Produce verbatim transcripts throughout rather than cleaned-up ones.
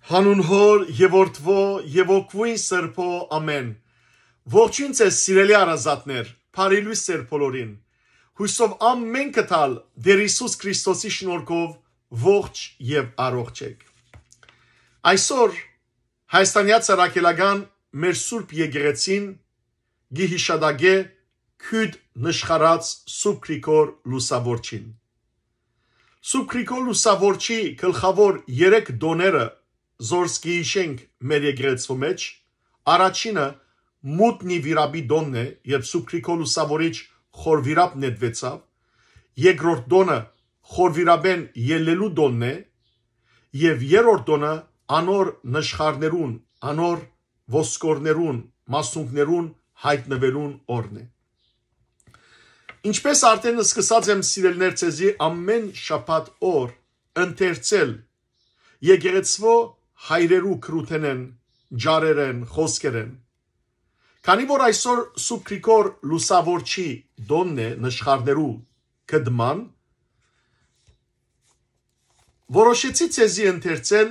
Անուն Հօր եւ Որդւոյ եւ Հոգւոյն Սրբոյ, ամէն։ Ողջույն ձեզ, սիրելի հարազատներ, բարի լոյս ձեր բոլորին։ Յուսով ամէնքը թալ Տէր Յիսուս Քրիստոսի շնորհքով ողջ եւ առողջ էք։ Այսօր Հայաստանեայ Առաքելական մեր Սուրբ Եկեղեցին կը յիշատակէ քիւտ նշխարած Սուրբ Գրիգոր Լուսաւորչին։ Սուրբ Գրիգոր Լուսաւորչի գլխաւոր երեք տօները զորս կը յիշենք մեր եկեղեցւոյ մէջ, առաջինը Մուտնի վիրապի տօնն է, երբ Սուրբ Գրիգոր Լուսաւորիչ խոր վիրապ նետուեցաւ, երկրորդ տօնը խոր վիրապէն ելլելու տօնն է, եւ երրորդ տօնը անոր նշխարներուն, անոր ոսկորներուն, մասունքներուն յայտնուելուն օրն է։ Ինչպէս արդէն սկսած եմ, սիրելիներ, ձեզի ամէն շաբաթ օր ընթերցել եկեղեցւոյ հայրերու գրութենէն, ջարերէն, խօսքերէն։ Քանի որ այսօր Սուրբ Գրիգոր Լուսաւորչի տօնն է նշխարներու կդման, որոշեցի ձեզի ընթերցել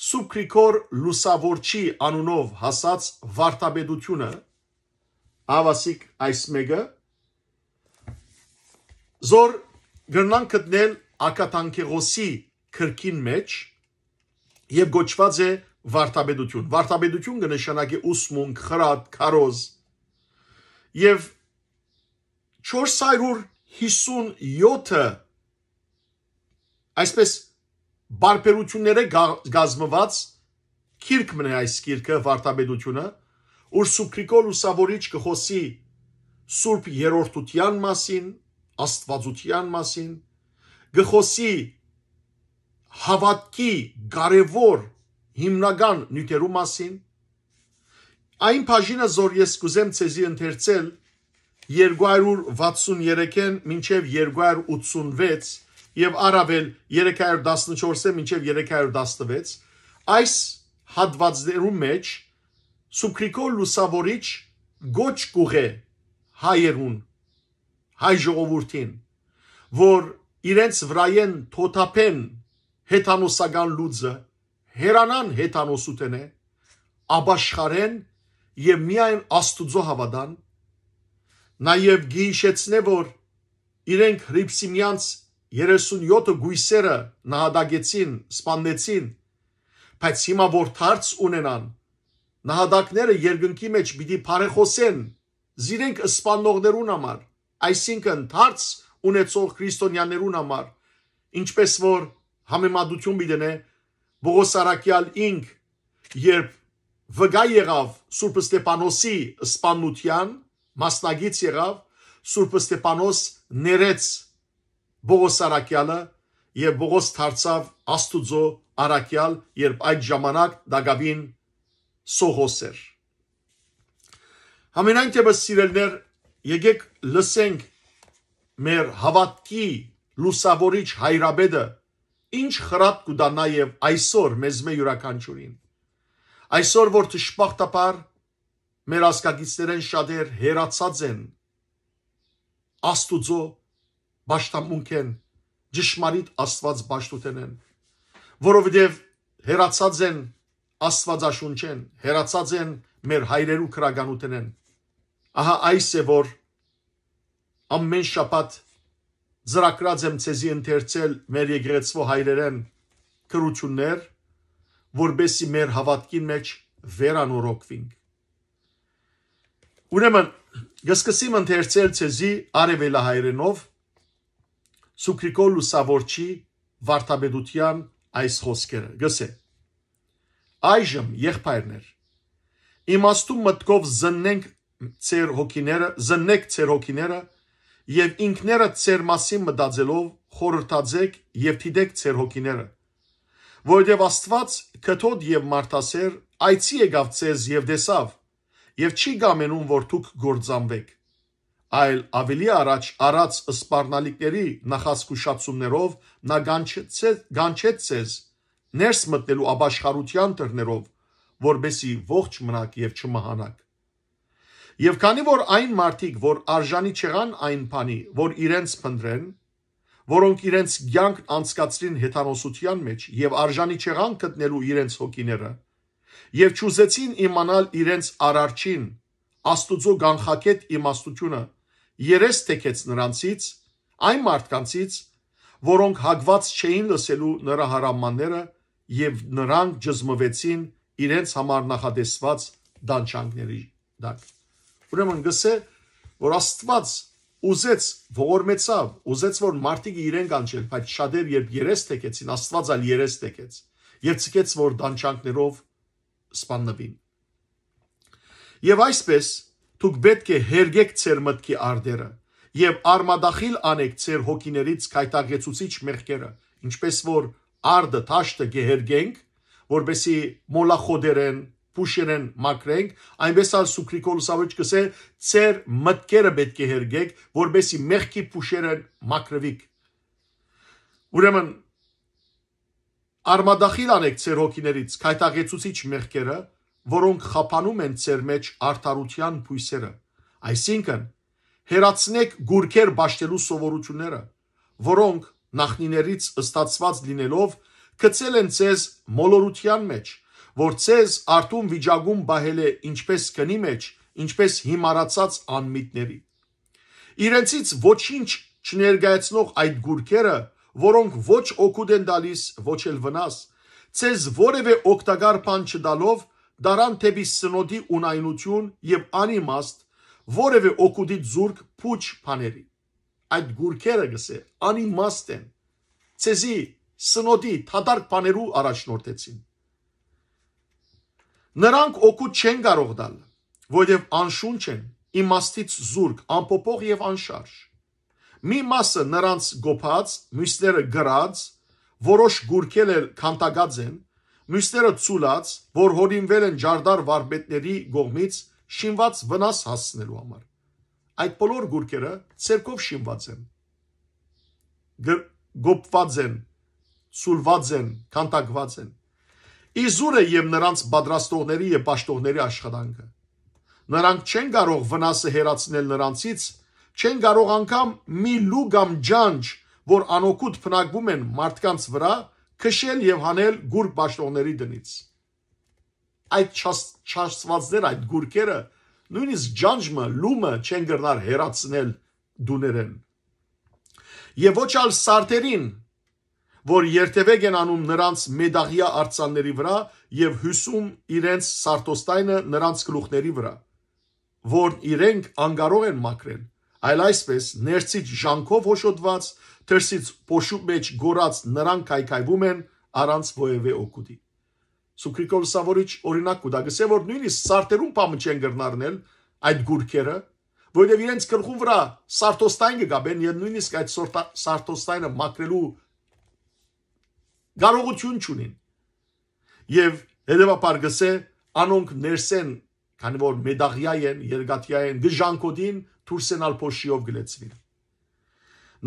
Սուրբ Գրիգոր Լուսաւորչի անունով հասած վարդապետութիւնը, ահա սիկ այս մէկը, զոր կրնանք գտնել Ակադանքեղոսի գրքին մէջ եւ կոչուած է վարդապետութիւն։ Վարդապետութիւն կը նշանակի ուսմունք, խրատ, քարոզ։ Եւ չորս հարիւր յիսուն եօթը, այսպէս, բարբերութիւններէ գա-, գազմուած գիրք մնայ այս գիրքը, վարդապետութիւնը, ուր Սուրբ Գրիգոր Լուսաւորիչ կը խօսի Սուրբ Երրորդութեան մասին, Աստուածութեան մասին, կը խօսի հաւատքի կարեւոր հիմնական նիւթերու մասին։ Այն բաժինը, զոր ես կ'ուզեմ ձեզի ընթերցել, երկու հարիւր վաթսուն երեքէն մինչեւ երկու հարիւր ութսուն վեց եւ առաւել երեք հարիւր տասնչորսէն մինչեւ երեք հարիւր տասնվեց, այս հատուածներու մէջ Սուրբ Գրիգոր Լուսաւորիչ կոչ կ'ուղղէ հայերուն, հայ ժողովուրդին, որ իրենց վրայէն թօթափեն հեթանոսական լուծը, հեռանան հեթանոսութենէ, ապաշխարեն եւ միայն Աստուծոյ հաւատան, նաեւ կը յիշեցնէ, որ իրենք Հռիփսիմեանց երեսուն եօթը կոյսերը նահատակեցին, սպաննեցին, բայց հիմա որ դարձ ունենան, նահատակները երկնքի մէջ պիտի բարեխօսեն զիրենք սպաննողներուն համար, այսինքն դարձ ունեցող քրիստոնեաներուն համար, ինչպէս որ համեմատութիւն պիտի դնէ Պողոս առաքեալ ինք, երբ վկայ եղաւ Սուրբ Ստեփանոսի սպաննութեան, մասնակից եղաւ, Սուրբ Ստեփանոս ներեց Պողոս առաքեալը եւ Պողոս դարձաւ Աստուծոյ առաքեալ, երբ այդ ժամանակ տակաւին սովհոս էր։ Համենայն դեպս, սիրելիներ, եկեք լսենք մեր հաւատքի լուսաւորիչ հայրապետը ինչ խրատ կու տայ նաեւ այսօր մեզմէ իւրաքանչիւրին։ Այսօր որ դժբախտաբար մեր ազգակիցներէն շատեր հեռացած են Աստուծոյ պաշտամունքէն, ճշմարիտ Աստուած պաշտութենէն, որովհետեւ հեռացած են Աստուածաշունչէն, հեռացած են մեր հայրերու գրականութենէն։ Ահա այս է, որ ամէն շաբաթ ծրագրած եմ ձեզի ընթերցել մեր եկեղեցւոյ հայրերէն գրութիւններ, որպէսզի մեր հաւատքին մէջ վերանորոգուինք։ Ուրեմն, կը սկսեմ ընթերցել ձեզի արեւելահայերէնով Սուրբ Գրիգոր Լուսաւորչի վարդապետութեան այս խօսքերը։ Գսե. «Այժմ, եղբայրներ, իմաստուն մտքով զննենք ձեր հոգիները, զննեք ձեր հոգիները եւ ինքներդ ձեր մասին մտածելով խորհրդածեք եւ դիտեք ձեր հոգիները, որովհետեւ Աստուած կթոտ եւ մարդասեր այցի եկաւ ձեզ եւ տեսաւ, եւ չի կամենում, որ դուք կործանուէք, այլ աւելի առաջ առած սպառնալիքների նախազգուշացումներով նա կանչեցե-, կանչեց ձեզ ներս մտնելու ապաշխարութեան դռներով, որպէսզի ողջ մնաք եւ չմահանաք։ Եւ քանի որ այն մարդիկ, որ արժանի չեղան այն բանի, որ իրենց փնտռեն, որոնք իրենց կեանքն անցկացրին հեթանոսութեան մէջ եւ արժանի չեղան գտնելու իրենց հոգիները, եւ չուզեցին իմանալ իրենց արարչին, Աստուծոյ կանխագէտ իմաստութիւնը, երես թեքեց նրանցից, այն մարդկանցից, որոնք հակուած չէին լսելու նրա հրամանները եւ նրանք ջզմուեցին իրենց համար նախատեսուած տանջանքների տակ։ Ուրեմն գսէ, որ Աստուած ուզեց, ողորմեցաւ, ուզեց, որ մարդիկ իրեն կանչել, բայց շատեր երբ երես թեքեցին, Աստուած ալ երես թեքեց եւ ցկեց, որ տանջանքներով սպաննուին։ Եւ այսպես, դուք պէտք է հերկեք ձեր մտքի արտերը եւ արմատախիլ անեք ձեր հոգիներից գայթակղեցուցիչ մեղքերը, ինչպես որ արտը, դաշտը կը հերկենք, որպեսի մոլախոտերեն, փուշերեն մաքրենք, այնպես ալ Սուքրիկոլ Սավոչ կսէ, ձեր մտքերը պէտք է հերկեք, որպեսի մեղքի փուշերեն մաքրուիք։ Ուրեմն, արմատախիլ անեք ձեր հոգիներից գայթակղեցուցիչ մեղքերը, որոնք խափանում են ձեր մեջ արդարութեան բոյսերը, այսինքն՝ հեռացնեք գուրքեր պաշտելու սովորութիւնները, որոնք նախնիներից ստացուած լինելով՝ գցել են ձեզ մոլորութեան մեջ, որ ձեզ արթուն վիճակում պահել է ինչպես քնի մեջ, ինչպես հիմարացած անմիտների։ Իրենցից ոչինչ չներկայացնող այդ գուրքերը, որոնք ոչ օգուտ են տալիս, ոչ էլ վնաս, ձեզ որևէ օգտակար բան չտալով, դարան դէպի սնոտի ունայնութիւն եւ անիմաստ, որևէ օգուտի զուրկ պուչ բաների։ Այդ գուրքերը, գսէ, անիմաստ են, ձեզի սնոտի, դատարկ բաներու առաջնորդեցին։ Նրանք օգուտ չեն կարող տալ, որովհետեւ անշունչ են, իմաստից զուրկ, անփոփոխ եւ անշարժ։ Մի մասը նրանց գոփած, միւսները կրած, որոշ գուրքեր ալ քանդակած են, միւսները ցուլած, որ յօրինուեր են ճարտար վարպետների կողմից շինուած վնաս հասցնելու համար։ Այդ բոլոր գուրքերը ձեռքով շինուած են, գ-, գոփուած են, ցուլուած են, քանդակուած են։ Իզուրը եւ նրանց պատրաստողների եւ պաշտողների աշխատանքը։ Նրանք չեն կարող վնասը հեռացնել նրանցից, չեն կարող անգամ մի լու կամ ջանջ, որ անօգուտ բնակվում են մարդկանց վրա, քշել եւ հանել գուրք պաշտողների տնից։ Այդ չաս-, չաստուածներ, այդ գուրքերը, նոյնիսկ ջանջ մը, լու մը չեն կրնար հեռացնել տուներէն։ Եւ ոչ ալ սարդերին, որ երթեւեկ են անում նրանց մետաղեայ արձանների վրա եւ հիւսում իրենց սարդոստայնը նրանց գլուխների վրա, որն իրենք անկարող են մաքրել, այլ այսպես ներսից ժանքով հոշոտուած, թերսից փոշու մեջ կորած նրանք քայքայվում են առանց որեւէ օգուտի։ Սուքրիկոլ Սավորիչ օրինակ կու տայ, գսէ, որ նոյնիսկ սարդերուն բան մը չեն կրնար նել այդ գուրքերը, որովհետեւ իրենց գլխուն վրա սարդոստայն կը կապեն եւ նոյնիսկ այդ սորտա-, սարդոստայնը մաքրելու կարողութիւն չունին։ Եւ հետեւաբար գսէ, անոնք ներսէն, քանի որ մետաղեայ են, երկաթեայ են, կը ժանքոտին, դուրսէն ալ փոշիով կը լեցուին։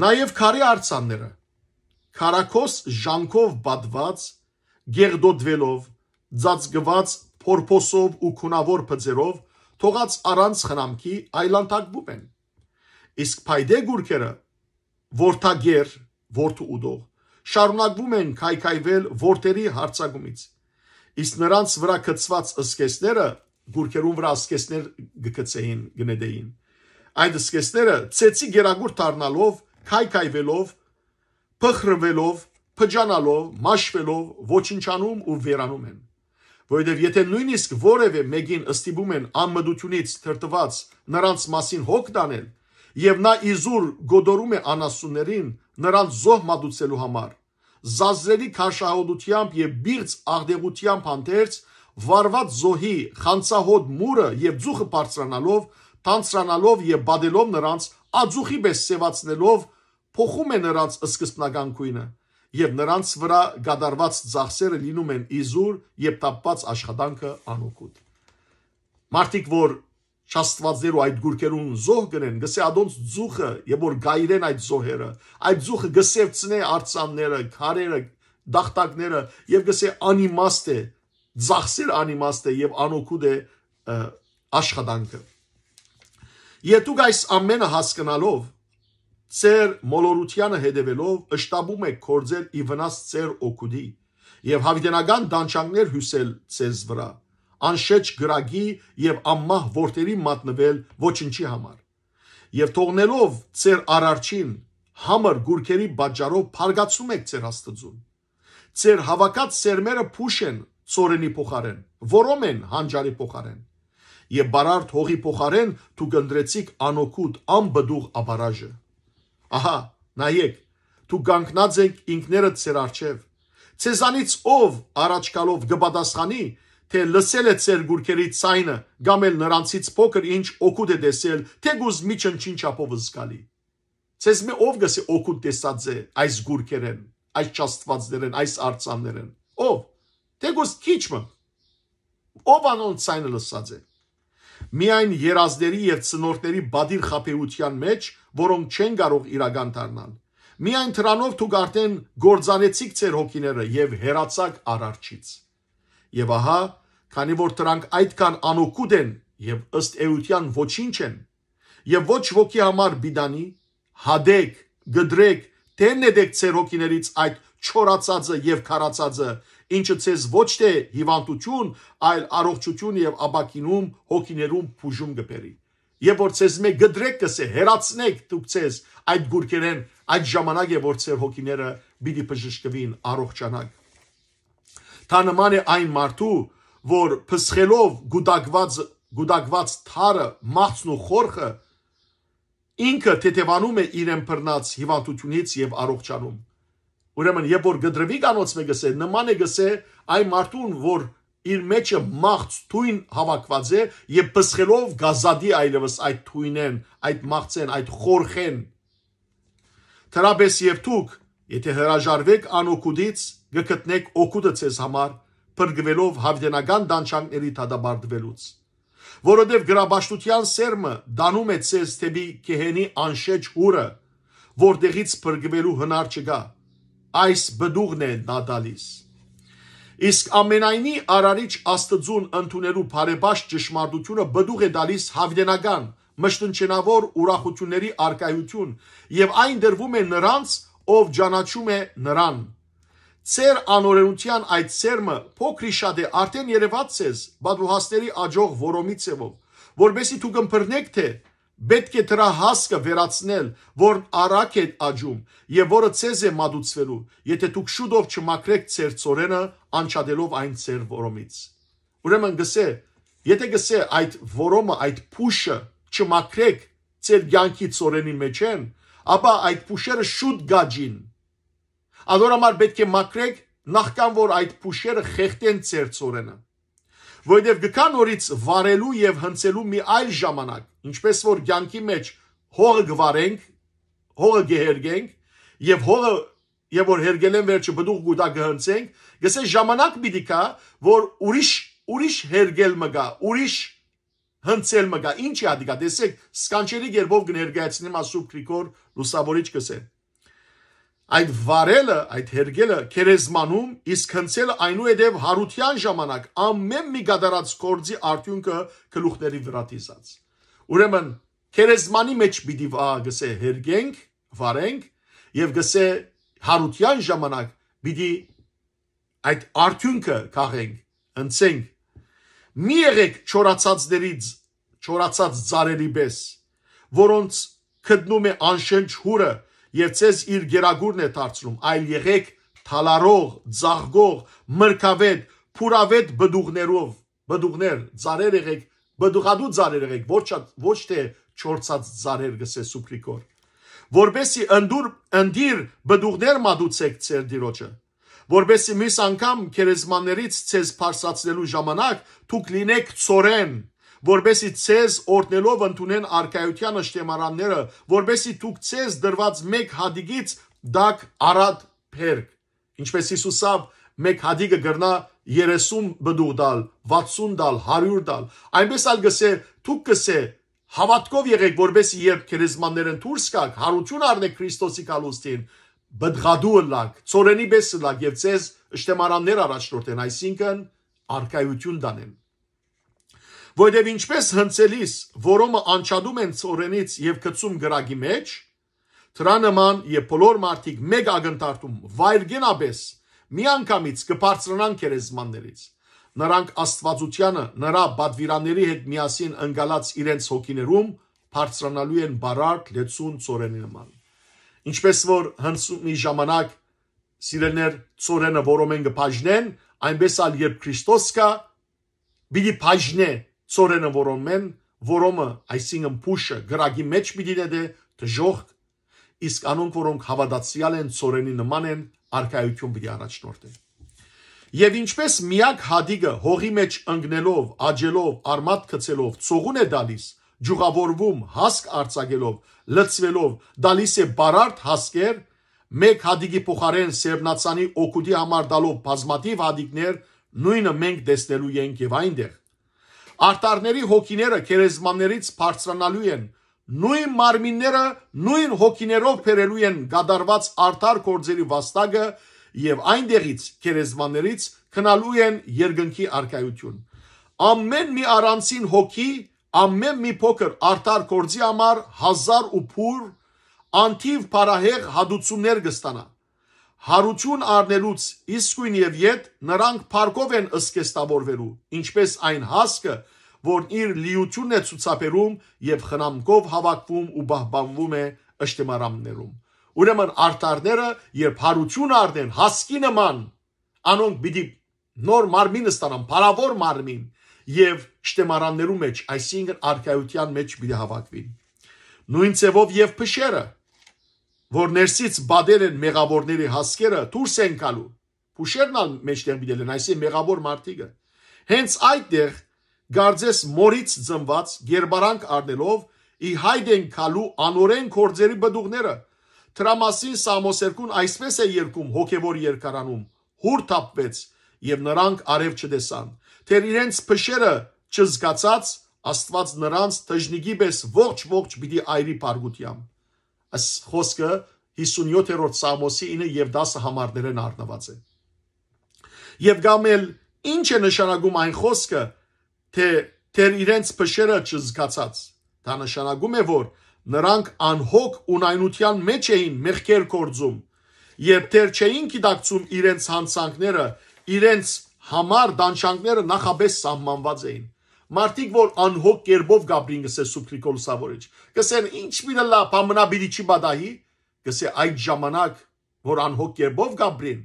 Նաեւ քարի արձանները, քարակոս ժանքով պատված, գեղդոտուելով, ծածկուած փորփոսով ու գունաւոր բծերով, թողած առանց խնամքի, այլանդակվում են։ Իսկ փայտե գուրքերը, որդագեր, որդու ուտող, շարունակվում են քայքայվել որդերի յարձակումից։ Իսկ նրանց վրա գցուած սկեսները, գուրքերուն վրա սկեսներ կը գցէին, կը նետէին։ Այդ սկեսները, ծեծի գերագուրդ դառնալով, քայքայվելով, փխրուելով, փճանալով, մաշվելով, ոչնչանում ու վերանում են։ Որովհետեւ եթէ նոյնիսկ որեւէ մէկին ստիպում են անմտութիւնից դրդուած նրանց մասին հոգ տանել, եւ նա իզուր գոդորում է անասուններին, նրանց զոհ մատուցելու համար, զազրելի քարշահոտութեամբ եւ բիղծ աղտեղութեամբ հանդերձ, վառուած զոհի խանցահոտ մուրը եւ ծուխը բարձրանալով, թանձրանալով եւ բադելով նրանց, ածուխի պէս սեւացնելով, փոխում է նրանց սկզբնական գոյնը, եւ նրանց վրա կատարուած ծախսերը լինում են իզուր, եւ թափուած աշխատանքը անօգուտ։ Մարդիկ, որ չաստուածներ ու այդ գուրքերուն զոհ կ'ընեն, գսէ, ադոնց ծուխը, եւ որ գայրեն այդ զոհերը, այդ ծուխը կը սեւցնէ արձանները, քարերը, տախտակները, եւ գսէ, անիմաստ է, ծախսեր անիմաստ է եւ անօգուտ է, ը, աշխատանքը։ Եթ դուք այս ամենը հասկնալով, Ձեր մոլորութեանը հետեւելով՝ շտապում էք գործել ի վնաս ձեր օգուտի եւ յաւիտենական տանջանքներ հիւսել ձեզ վրայ, անշէջ կրակի եւ անմահ որդերի մատնուել ոչնչի համար։ Եւ թողնելով ձեր արարչին, համր կուռքերի պատճառով փառկացնում էք ձեր Աստուծուն։ Ձեր հաւաքած սերմերը փուշ են ծորենի փոխարէն, որոմ են հանճարի փոխարէն։ Եւ բարարդ հողի փոխարէն դուք ընտրեցիք անօգուտ, անպտուղ ապարաժը։ Ահա, նայեք, դուք կանգնած էք ինքներդ ձեր առջեւ։ Ձեզանից ով առաջ գալով կը պատասխանի, թէ լսել է ձեր կուռքերի ձայնը կամ էլ նրանցից փոքր ինչ օգուտ է տեսել, թէ կուզ մի չնչին չափով զգալի։ Ձեզմէ ով կ'ըսէ օգուտ տեսած է այս կուռքերէն, այս չաստուածներէն, այս արձաններէն։ Ով։ Թէ կուզ քիչ մը։ Ով անոնց ձայնը լսած է։ Միայն երազների եւ ցնորքների պատիռ խաբեութեան մէջ, որոնք չեն կարող իրական դառնալ։ Միայն դրանով դուք արդեն կործանեցիք ձեր հոգիները եւ հեռացաք արարչից։ Եւ ահա, քանի որ դրանք այդքան անօգուտ են եւ ըստ էութեան ոչինչ են, եւ ոչ ոքի համար պիտանի, հատեք, կտրեք, թէ նետեք ձեր հոգիներից այդ չորացածը եւ քարացածը, ինչը ձեզ ոչ թէ հիւանդութիւն, այլ առողջութիւն եւ ապակինում հոգիներուն բուժում կը բերի։ Եւ որ ձեզմէ կտրեք, կ'ըսէ, հեռացնեք դուք ձեզ այդ կուռքերէն, այդ ժամանակ է, որ ձեր հոգիները պիտի բժշկուին, առողջանաք։ Դա նման է այն մարդու, որ փսխելով կուտակուած, կուտակուած թարը, մաղձն ու խորխը, ինքը թեթեւանում է իրեն բռնած հիւանդութիւնից եւ առողջանում։ Ուրեմն, երբ որ կտրուի կանոնց մէ կ'ըսէ, նման է կ'ըսէ այն մարդուն, որ իր մեջը մաղձ թոյն հաւաքուած է եւ փսխելով կ'ազատի այլեւս այդ թոյնէն, այդ մաղձէն, այդ խորխէն։ Դրապես եւ դուք, եթէ հրաժարուեք անօգուտից, կը գտնեք օգուտը ձեզ համար, փրկուելով յաւիտենական տանջանքների դատապարտուելուց։ Որովհետեւ գրապաշտութեան սերմը տանում է ձեզ դէպի գեհենի անշէջ յուրը, որտեղից փրկուելու հնար չկայ։ Այս պտուղն է նա տալիս։ Իսկ ամենայնի արարիչ Աստծուն ընդունելու բարեպաշտ ճշմարտությունը պտուղ է տալիս յաւիտենական, մշտնջենաւոր ուրախութիւնների առկայութիւն եւ այն տրուում է նրանց, ով ճանաչում է նրան։ Ձեր անօրենութեան այդ սերմը փոքրի շատ է արդեն երեւած ձեզ պատուհասների աջող որոմի ձևով, որպեսզի դուք ըմբռնեք, թէ պէտք է դրա հասկը վերացնել, որն առակ է աճում եւ որը ձեզ է մատուցվելու, եթէ դուք շուտով չմաքրեք ձեր ծորենը, անջատելով այն ձեր որոմից։ Ուրեմն գսե, եթէ գսե այդ որոմը, այդ փուշը չմաքրեք ձեր կյանքի ծորենի մեջեն, ապա այդ փուշերը շուտ գաջին։ Անոր համար պէտք է մաքրեք, նախքան որ այդ փուշերը խեղդեն ձեր ծորենը։ Որովհետեւ գկա նորից վարելու եւ հնցելու մի այլ ժամանակ, ինչպես որ կյանքի մեջ հողը կվարենք, հողը կհերգենք, եւ հողը, եւ որ հերգելեն վերջը բդուղ գուտա կհնցենք, գսե ժամանակ պիտի գա, որ ուրիշ, ուրիշ հերգել մը գա, ուրիշ հնցել մը գա, ինչ է ադիկա, տեսեք, սկանչելի գերբով կներկայացնեմ ասուբ Գրիգոր Լուսավորիչ գսե։ Այդ վարելը, այդ հերգելը գերեզմանում, իսկ հնցելը այնուհետև հարության ժամանակ ամեն մի կատարած գործի արդյունքը գլուխների վրա դիզած։ Ուրեմն, գերեզմանի մեջ պիտի վա-, գսե հերգենք, վարենք, եւ գսե հարության ժամանակ պիտի այդ արդյունքը քաղենք, ընցենք։ Մի եղեք չորացածներից, չորացած ծառերի պես, որոնց գտնում է անշնչ հուրը եւ ձեզ իր գերագուրն է դարձնում, այլ եղեք թալարող, ձաղկող, մրգավետ, փուրավետ բդուղներով, բդուղներ, ծառեր եղեք, բդուղատու ծառեր եղեք, ոչ, ոչ թե չորցած ծառեր, գսե Սուբրիկոր, որպեսի ընդուր, ընդիր բդուղներ մատուցեք ձեր դիրոջը, որպեսի մյուս անգամ գերեզմաններից ձեզ բարձրացնելու ժամանակ դուք լինեք ծորեն, որպեսի ձեզ օրհնելով ընդունեն արքայության ըշտեմարանները, որպեսի դուք ձեզ դրված մեկ հատիկից դակ արատ բերք, ինչպես Հիսուսով մեկ հատիկը կրնա երեսուն բդուղ տալ, վաթսուն տալ, հարիւր տալ, այնպես ալ գսե, դուք գսե, հաւատքով եղեք, որպեսի երբ գերեզմաններն դուրս գաք, հարություն առնեք Քրիստոսի գալուստին, բդղատու ըլլաք, ծորենի պես ըլլաք եւ ձեզ ըշտեմարաններ առաջնորդեն, այսինքն՝ արքայություն տանեն։ Որովհետեւ ինչպես հնցելիս որոմը անջատում են ծորենից եւ գցում կրակի մեջ, Դրան նման եւ բոլոր մարդիկ մէկ ակնթարթում վայրկենապէս միանգամից կը բարձրանան գերեզմաններից։ Նրանք Աստուածութեանը, նրա պատվիրանների հետ միասին ընկալած իրենց հոգիներում բարձրանալու են բարարդ լեցուն ծորենի նման։ Ինչպես որ հնձումի ժամանակ, սիրելիներ, ծորենը որոմէն կը բաժնեն, այնպես ալ երբ Քրիստոս կայ, պիտի բաժնէ ծորենը որոմէն, որոմը, այսինքն փուշը, կրակի մէջ պիտի նետէ դժոխք, իսկ անոնք, որոնք հաւատացեալ են, ծորենի նման են, արքայութիւն պիտի առաջնորդեն։ Եւ ինչպես միակ հատիկը հողի մէջ ընկնելով, աճելով, արմատ գցելով, ծողուն է տալիս, ջուղաւորվում, հասկ արձակելով, լցուելով, տալիս է բարարդ հասկեր, մէկ հատիկի փոխարէն սերմնացանի օգուտի համար տալով բազմաթիւ հատիկներ, նոյնը մենք տեսնելու ենք եւ այնտեղ։ Արդարների հոգիները գերեզմաններից բարձրանալու են, նոյն մարմինները նոյն հոգիներով բերելու են կատարուած արդար գործերի վաստակը եւ այնտեղից, գերեզմաններից, գնալու են երկնքի արքայութիւն։ Ամէն մի առանձին հոգի, ամէն մի փոքր արդար գործի համար հազար ու բուռ անթիւ փառահեղ հատուցումներ կը ստանայ։ Յարութիւն առնելուց իսկոյն եւ յետ նրանք փառքով են զգեստաւորուելու, ինչպես այն հասկը, որն իր լիութիւնն է ցուցաբերում եւ խնամքով հաւաքվում ու պահպանվում է ըշտեմարաններում։ Ուրեմն արդարները, երբ յարութիւն առնեն հասկի նման, անոնք պիտի նոր մարմին ստանան, փառաւոր մարմին, եւ ըշտեմարաններու մէջ, այսինքն արքայութեան մէջ պիտի հաւաքուին։ Նոյն ձեւով եւ փշերը, որ ներսից պատել են մեղաւորների հասկերը, դուրս են գալու։ Փուշերն ալ մէջտեղ պիտի ելեն, այսինքն մեղաւոր մարդիկը։ Հենց այդտեղ, կարծես մորից ծնուած, գերբարանք առնելով, ի հայտ են գալու անօրէն գործերի պտուղները։ Դրա մասին Սաղմոս երկուն այսպես է երգում հոգեվոր երկարանում. «Յուր թափուեց, եւ նրանք արեւ չտեսան, դեռ իրենց փշերը չզգացած, Աստուած նրանց թժնիկի պէս ողջ-ողջ պիտի այրի փառքութեամբ»։ Այս խօսքը հիսունյոթերորդ Սաղմոսի ինը եւ տասը համարներէն առնուած է։ Եւ կամ էլ, ի՞նչ է նշանակում այն խօսքը, թէ դեռ իրենց փշերը չզգացած։ Դա նշանակում է, որ նրանք անհոգ ունայնութեան մէջ էին մեղքեր գործում, երբ դեռ չէին գիտակցում իրենց յանցանքները, իրենց համար տանջանքները նախապէս սահմանուած էին։ Մարդիկ, որ անհոգ կերպով կապրին, կ'ըսէ Սուրբ Գրիգոր Լուսաւորիչ, կ'ըսեն. «Ինչ պիտի ըլլայ, բան մնայ պիտի չի պատահի»։ Կ'ըսէ. «Այդ ժամանակ, որ անհոգ կերպով կապրին,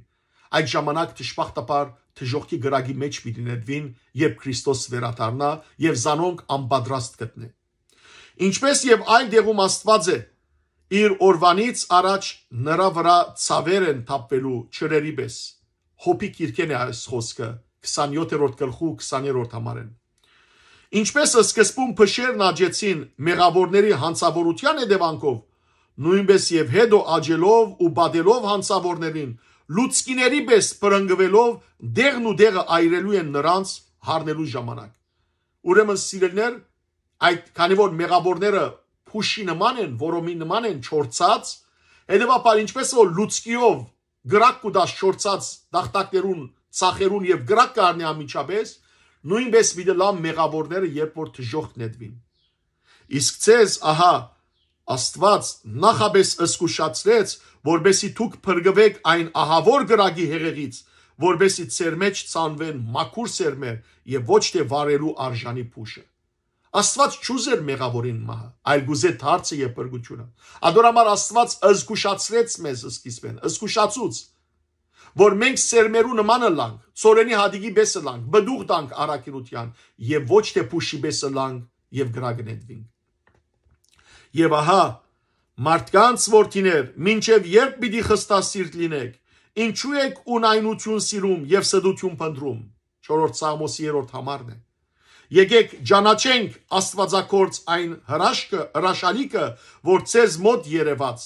այդ ժամանակ դժբախտաբար դժոխքի կրակի մէջ պիտի նետուին, երբ Քրիստոս վերադառնայ եւ զանոնք անպատրաստ գտնէ»։ Ինչպես եւ այլ տեղում Աստուած է, իր օրուանից առաջ նրա վրայ ցաւեր են թափուելու ջրերի պէս։ Յոբի գիրքէն է այս խօսքը, քսանյոթերորդ գլխու քսաներորդ համարէն։ Ինչպես սկզբուն փշերն աճեցին մեղաւորների յանցաւորութեան հետեւանքով, նոյնպէս եւ հետո աճելով ու պատելով յանցաւորներին, լուցկիների պէս պրնկուելով, տեղն ու տեղը այրելու են նրանց, յառնելու ժամանակ։ Ուրեմն, սիրելիներ, այդ, քանի որ մեղաւորները փուշի նման են, որոմի նման են, չորցած, հետեւաբար, ինչպես որ լուցկիով կրակ կու տաս չորցած տախտակներուն, ծախերուն, եւ կրակ կ'առնի անմիջապէս, նոյնպէս պիտի ըլլան մեղաւորները, երբ որ դժոխք նետուին։ Իսկ ձեզ, ահա, Աստուած նախապէս զգուշացրեց, որպեսզի դուք փրկուէք այն ահաւոր կրակի հեղեղից, որպեսզի ձեր մէջ ցանուեն մաքուր սերմեր եւ ոչ թէ վառելու արժանի փուշը։ Աստուած չուզեր մեղաւորին մահը, այլ կուզէ դարձը եւ փրկութիւնը։ Ատոր համար Աստուած զգուշացրեց մեզ սկիզբէն, զգուշացուց, որ մենք սերմերու նման ըլլանք, ծորենի հատիկի պէս ըլլանք, պտուղ տանք առաքինութեան, եւ ոչ թէ փուշի պէս ըլլանք եւ կրակ նետուինք։ Եւ ահա, մարդկանց որդիներ, մինչեւ ե՞րբ պիտի խստասիրտ լինեք, ինչո՞ւ եք ունայնություն սիրում եւ ստություն փնտռում։ Չորրորդ Սաղմոսի երրորդ համարն է։ Եկեք ճանաչենք աստուածագործ այն հրաշքը, հրաշալիքը, որ ձեզ մօտ երեւաց,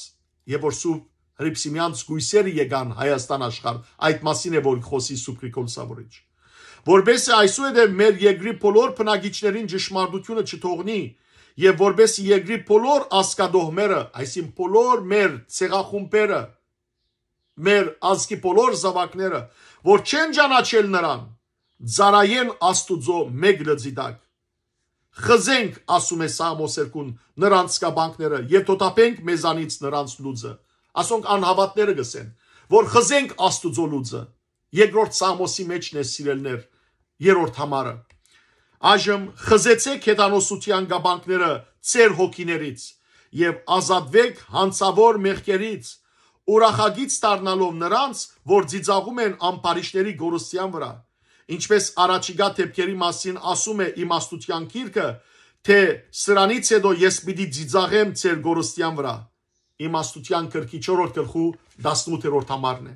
եւ որ Սուրբ Հռիփսիմեանց կոյսերը եկան Հայաստան աշխարհ, այդ մասին է, որ կխօսի Սուրբ Գրիգոր Լուսավորիչ։ Որպեսզի այսուհետև մեր երկրի բոլոր բնակիչներին ճշմարտությունը չթողնի, եւ որպեսզի երկրի բոլոր ազգատոհմերը, այսինքն բոլոր մեր ցեղախումբերը, մեր ազգի բոլոր զաւակները, որ չեն ճանաչել նրան, ծառայեն Աստուծոյ մէկ լծի տակ։ Խզենք, ասում է Սաղմոս երկուն, նրանց կապանքները եւ թոթափենք մեզանից նրանց լուծը։ Ասոնք անհաւատները կ'ըսեն, որ խզենք Աստուծոյ լուծը։ Երկրորդ Սաղմոսի մէջն է, սիրելիներ, երրորդ համարը։ Այժմ խզեցէք հեթանոսութեան կապանքները ձեր հոգիներից եւ ազատուեք յանցաւոր մեղքերից, ուրախագիծ դառնալով նրանց, որ ծիծաղում են ամբարիշտների կորստեան վրա։ Ինչպէս առաջիկայ դէպքերի մասին ասում է իմաստութեան գիրքը, թէ «Սրանից յետոյ ես պիտի ծիծաղեմ ձեր կորստեան վրա»։ Իմաստութեան գրքի չորրորդ գլխու տասնութերորդ համարն է։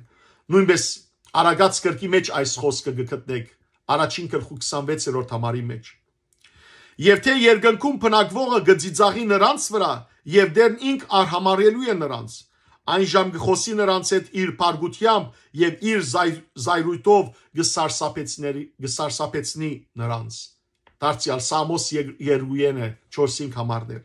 Նոյնպէս Արագած գրքի մէջ այս խօսքը կը գտնենք, առաջին գլխու քսանվեցերորդ համարի մէջ։ Եւ թէ երկնքում բնակուողը կը ծիծաղի նրանց վրա, եւ Տէրն ինք արհամարհելու է նրանց։ Այն ժամ կը խօսի նրանց հետ իր փառքութեամբ եւ իր զայ-, զայրույթով կը սարսափեցների-, կը սարսափեցնի նրանց։ Դարձեալ Սաղմոս եր-, երկուերն է, չորսին համարներ։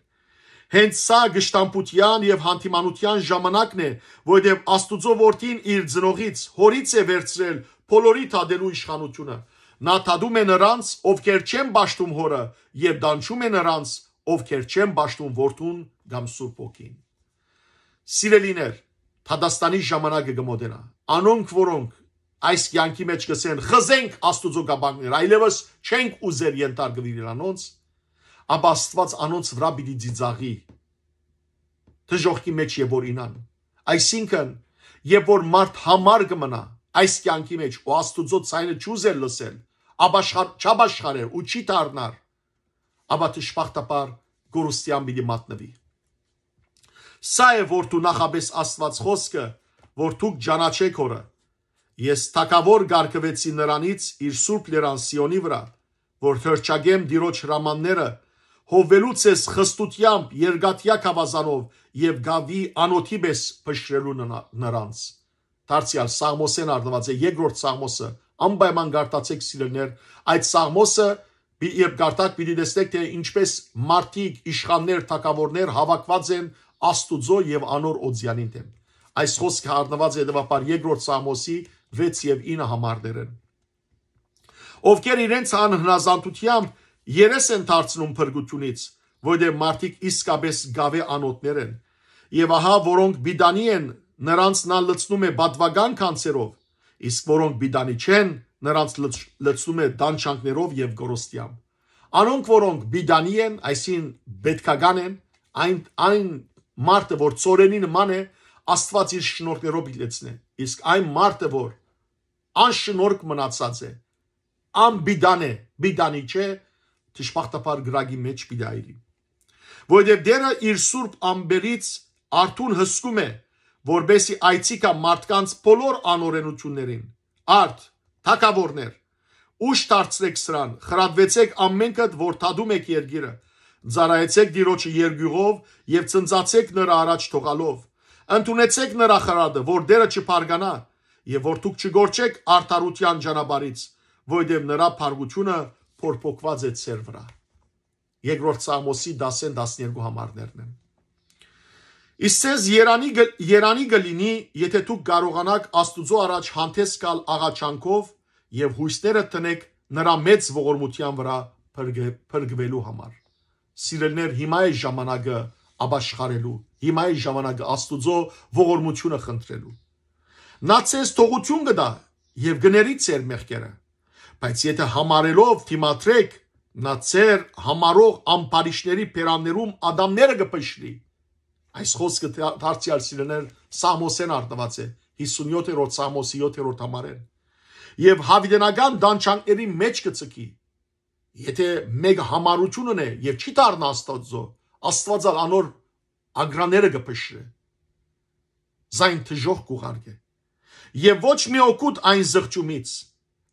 Հենց սա գշտամբութեան եւ հանդիմանութեան ժամանակն է, որովհետեւ Աստուծոյ Որդին իր ծնողից, հորից է վերցրել բոլորի թատելու իշխանութիւնը։ Նա թատում է նրանց, ովքեր չեն պաշտում հորը, եւ տանջում է նրանց, ովքեր չեն պաշտում որդուն կամ Սուրբ Հոգին։ Սիրելիներ, դատաստանի ժամանակը կը մոտենայ։ Անոնք, որոնք այս կեանքի մէջ կ'ըսեն, «Խզենք Աստուծոյ կապանքները, այլեւս չենք ուզեր ենթարկուիլ անոնց», ապա Աստուած անոնց վրայ պիտի ծիծաղի, դժոխքի մէջ երբ որ ինան։ Այսինքն, երբ որ մարդ համար կը մնայ այս կեանքի մէջ ու Աստուծոյ ձայնը չուզեր լսել, ապաշխար-, չապաշխարեր ու չի դառնար, ապա դժբախտաբար կորստեան պիտի մատնուի։ Սա է որ դու նախապէս Աստուած խօսքը, որ դուք ճանաչէք հորը։ Ես թագաւոր կարգուեցի նրանից իր սուրբ լերան Սիոնի վրա, որ հրճակեմ Տիրոջ հրամանները, հովվելու ձեզ խստութեամբ երկաթեայ գաւազանով եւ գաւի անոթի պէս փշրելու նրա-, նրանց։ Դարձեալ Սաղմոսէն առնուած է երկրորդ Սաղմոսը, անպայման կարդացէք, սիրելիներ, այդ Սաղմոսը պի-, երբ կարդաք, պիտի տեսնեք, թէ ինչպէս մարդիկ, իշխաններ, թագաւորներ հաւաքուած են Աստուծոյ եւ անոր օծեանին դէմ։ Այս խօսքը առնուած է հետեւաբար երկրորդ Սաղմոսի վեց եւ ինը համարներէն։ Ովքեր իրենց անհնազանդութեամբ երես են դարձնում փրկութիւնից, որտեղ մարդիկ իսկապէս գաւէ անոթներ են։ Եւ ահա, որոնք պիտանի են, նրանց նա լցնում է պատուական գանձերով, իսկ որոնք պիտանի չեն, նրանց լց-, լցնում է տանջանքներով եւ կորստեամբ։ Անոնք, որոնք պիտանի են, այսինքն պետքական են, այն, այն մարդը, որ ծորենի նման է, Աստուած իր շնորհներով պիտի լեցնէ։ Իսկ այն մարդը, որ անշնորհք մնացած է, անպիտան է, պիտանի չէ, դժբախտաբար կրակի մէջ պիտի այրի։ Որովհետեւ Տէրը իր սուրբ ամպերից արթուն հսկում է, որպեսզի այցի գայ մարդկանց բոլոր անօրենութիւններին։ Արդ, թագաւորներ, ուշ դարձրէք սրան, խրատուեցէք ամէնքդ, որ թատում էք երկիրը, ծառայեցէք Տիրոջը երկիւղով եւ ծնծացէք նրա առաջ թողալով։ Ընդունեցէք նրա խրատը, որ Տէրը չփառկանայ, եւ որ դուք չգոռչէք արդարութեան ճանապարհից, որովհետեւ նրա փառքութիւնը փորփոքուած է ձեր վրայ։ Երկրորդ Սաղմոսի դասէն տասներկու համարներն են։ Իսկ ձեզ երանի գ-, երանի կը լինի, եթէ դուք կարողանաք Աստուծոյ առաջ հանդէս գալ աղաչանքով եւ յոյսները դնեք նրա մեծ ողորմութեան վրա փրկե-, փրկուելու համար։ Սիրելիներ, հիմա է ժամանակը ապաշխարելու, հիմա է ժամանակը Աստուծոյ ողորմութիւնը խնդրելու։ Նա ձեզ թողութիւն կը տայ եւ կը ների ձեր մեղքերը։ Բայց եթէ համարելով դիմադրեք, նա ձեր համարող ամբարիշտների բերաններուն ատամները կը փշրի։ Այս խօսքը դա-, դարձեալ, սիրելիներ, Սաղմոսէն առնուած է, հիսունյոթերորդ Սաղմոսի յոթերորդ համարէն։ Եւ յաւիտենական տանջանքների մէջ կը ձգի։ Եթէ մէկը համառութիւն ունի եւ չի դառնայ Աստուծոյ, Աստուած ալ անոր ագրաները կը փշրէ, զայն դժոխք կ'ուղարկէ։ Եւ ոչ մի օգուտ այն զղջումից,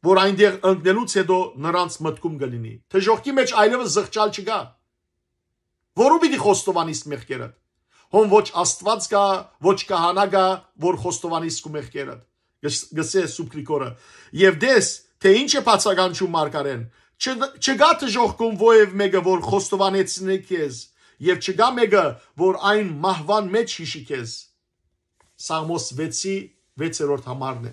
որ այնտեղ ընկնելուց յետոյ նրանց մտքում կը լինի։ Դժոխքի մէջ այլեւս զղջալ չկայ։ Որու պիտի խոստովանիս մեղքերդ։ Հոն ոչ Աստուած կայ, ոչ քահանայ կայ, որ խոստովանիս քու մեղքերդ, գս-, գսէ Սուրբ Գրիգորը։ Եւ տես, թէ ինչ է բացականչում մարգարէն. «Չդ-, չկայ դժոխքում որեւէ մէկը, որ խոստովանեցնէ քեզ, եւ չկայ մէկը, որ այն մահուան մէջ յիշի քեզ»։ Սաղմոս վեցի վեցերորդ համարն է,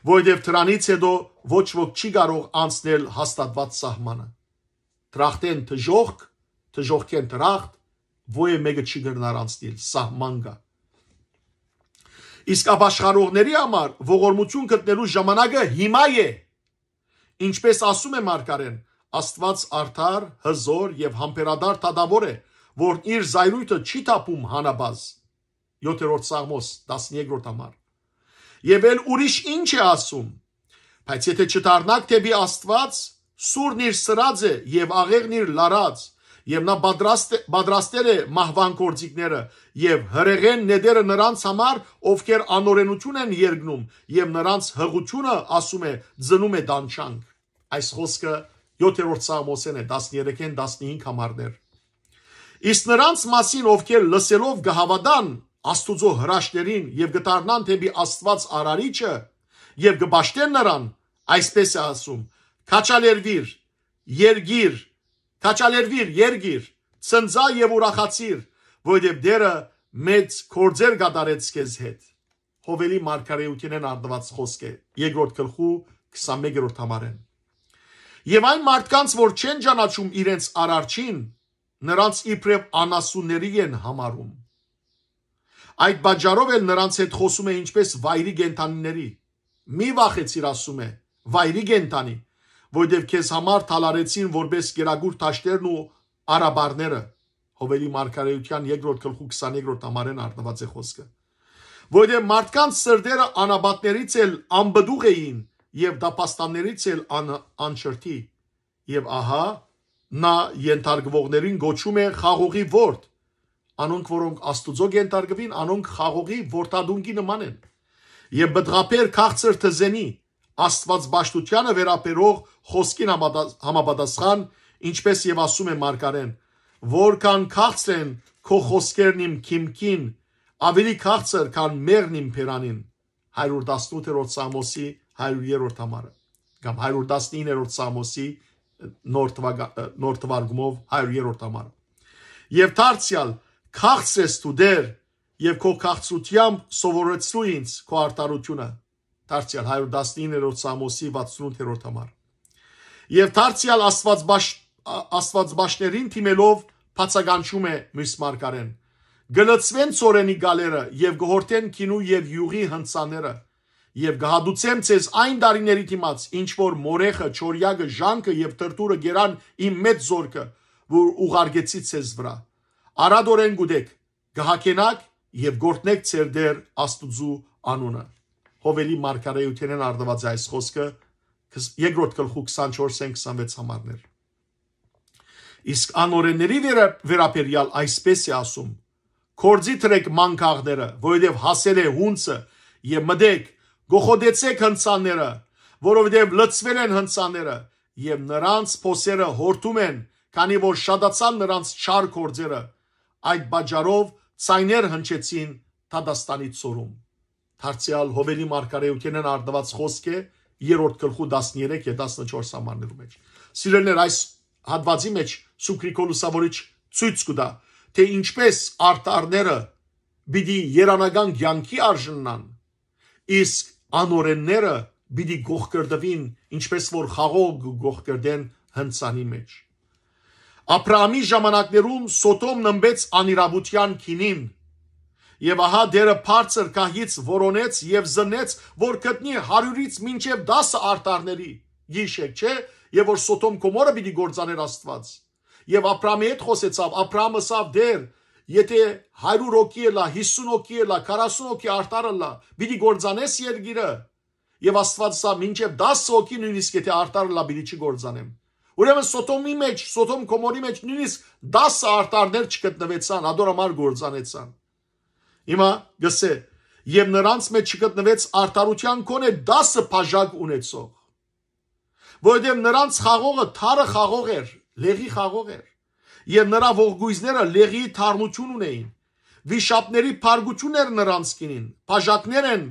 որովհետեւ դրանից յետոյ ոչ ոք չի կարող անցնել հաստատուած սահմանը։ դրախտէն դժոխք, դժոխքէն դրախտ, ոեւ մէկը չի կրնար անցնիլ, սահման կայ։ Իսկ ապաշխարողների համար ողորմութիւն գտնելու ժամանակը հիմա է։ Ինչպէս ասում է մարգարէն, Աստուած արդար, հզօր եւ համբերատար դատաւոր է, որ իր զայրոյթը չի թափում հանաբազ։ Յոթերորդ Սաղմոս, տասներկրորդ համար։ Եւ էլ ուրիշ ինչ է ասում. «Բայց եթէ չդառնաք դէպի Աստուած, սուրն իր սրած է եւ աղեղն իր լարած, եւ նա պատրաստ է, պատրաստել է մահուան գործիքները, եւ հրեղեն նետերը նրանց համար, ովքեր անօրենութիւն են երգնում, եւ նրանց հղությունը, ասում է, ծնում է տանջանք»։ Այս խօսքը յոթերորդ Սաղմոսէն է, տասներեքէն տասնհինգ համարներ։ Իսկ նրանց մասին, ովքեր լսելով կը հաւատան Աստուծոյ հրաշքներին եւ կը դառնան դէպի Աստուած արարիչը եւ կը պաշտեն նրան, այսպէս է ասում. «Քաչալերուիր, երգիր, քաչալերուիր, երգիր, ցնծա եւ ուրախացիր, որովհետեւ Տէրը մեծ գործեր կատարեց քեզ հետ»։ Յովելի մարգարէութենէն առնուած խօսք է, երկրորդ գլխու քսանմեկերորդ համարէն։ Եւ այն մարդկանց, որ չեն ճանաչում իրենց արարչին, նրանց իբրեւ անասունների են համարում։ Այդ պատճառով էլ նրանց հետ խօսում է ինչպես վայրի կենդանիների։ «Մի վախեցիր», ասում է, «վայրի կենդանի, որովհետեւ քեզ համար թալարեցին որպես կերակուր դաշտերն ու արաբարները»։ Յովելի մարգարէութեան երկրորդ գլխու քսաներկրորդ համարէն առնուած է խօսքը։ Որովհետեւ մարդկանց սրտերը անապատներից էլ անպտուղ էին եւ դապաստաններից էլ ան-, անչրթի։ Եւ ահա, նա ենթարկուողներին կոչում է խաղողի ворդ։ Անոնք, որոնք Աստուծոյ կենթարկուին, անոնք խաղողի որդատունկի նման են։ Եւ պտղաբեր քաղցր թզենի, Աստուած պաշտութեանը վերաբերող խօսքին համադա-, համապատասխան, ինչպես եւ ասում է մարգարէն, որքան քաղցր են քո խօսքերն իմ քիմքին, ավելի քաղցր քան մեղն իմ բերանին։ Հարիւր տասնութերորդ Սաղմոսի հարիւր երրորդ համարը, կամ հարիւր տասնիններորդ Սաղմոսի նոր թվագա-, նոր թվարկումով հարիւր երրորդ համարը։ Եւ դարձեալ, քաղցր ես դու, Տէր, եւ քո քաղցրութեամբ սովորեցրու ինձ քո արդարութիւնը։ Դարձեալ, հարիւր տասնիններորդ Սաղմոսի վաթսունութերորդ համար։ Եւ դարձեալ Աստուածբաշ-, ա-, Աստուածբաշտերին դիմելով բացականչում է միւս մարգարէն. «Կը լծուեն ծորենի գալերը եւ կը յորթեն գինու եւ իւղի հնցաները, եւ կը հատուցեմ ձեզ այն տարիների դիմաց, ինչ որ մորեխը, չորեակը, ժանքը եւ թրթուրը կերան իմ մեծ զօրքը, որ ուղարկեցի ձեզ վրայ։ Արատօրէն կ'ուտեք, կը հագենաք եւ կ'օրհնէք ձեր Տէր Աստուծոյ անունը»։ Յովելի մարգարէութենէն առնուած է այս խօսքը, քս-, երկրորդ գլխու քսանչորսէն քսանվեց համարներ։ Իսկ անօրենների վերա-, վերաբերեալ այսպէս է ասում. «Գործի դրէք մանգաղները, որովհետեւ հասել է յունցը, եւ մտեք, կոխոտեցէք հնցանները, որովհետեւ լծվել են հնցանները, եւ նրանց փոսերը յորթում են, քանի որ շատացան նրանց չար գործերը։ Այդ պատճառով ձայներ հնչեցին դատաստանի ծորում»։ Դարձեալ Յովելի մարգարէութենէն առնուած խօսք է երրորդ գլխու տասներեք եւ տասնչորս համարներու մեջ։ Սիրելիներ, այս հատուածի մեջ Սուրբ Գրիգոր Լուսավորիչ ցոյց կու տայ, թէ ինչպէս արդարները պիտի երանական կեանքի արժանանան, իսկ անօրենները պիտի կոխկրտուին, ինչպէս որ խաղող կը կոխկրտեն հնցանի մեջ։ Աբրահամի ժամանակներուն Սոդոմ նմբեց անիրաւութեան գինին, եւ ահա Տէրը բարձր գահից որոնեց եւ զննեց, որ գտնի հարիւրից մինչեւ տասը արդարների գիշեր, չէ՞, եւ որ Սոդոմ Գոմորը պիտի կործանէր Աստուած։ Եւ Աբրահամի հետ խօսեցաւ, Աբրահամ ըսաւ. «Տէր, եթէ հարիւր հոգի ըլլայ, յիսուն հոգի ըլլայ, քառասուն հոգի արդար ըլլայ, պիտի կործանես երկիրը»։ Եւ Աստուած ըսաւ. «Մինչեւ տասը հոգի նոյնիսկ եթէ արդար ըլլայ, պիտի չկործանեմ»։ Ուրեմն Սոդոմի մեջ, Սոդոմ Գոմորի մեջ նոյնիսկ տասը արդարներ չգտնուեցան, ադոր համար կործանեցան։ Հիմա գսե, եւ նրանց մեջ չգտնուեց արդարութեան գոնե տասը բաժակ ունեցող, որովհետեւ նրանց խաղողը թարը խաղող էր, լեղի խաղող էր, եւ նրա ողկոյզները լեղի թարմութիւն ունէին։ Վիշապների փառքութիւն էր նրանց գինին, բաժակներ են,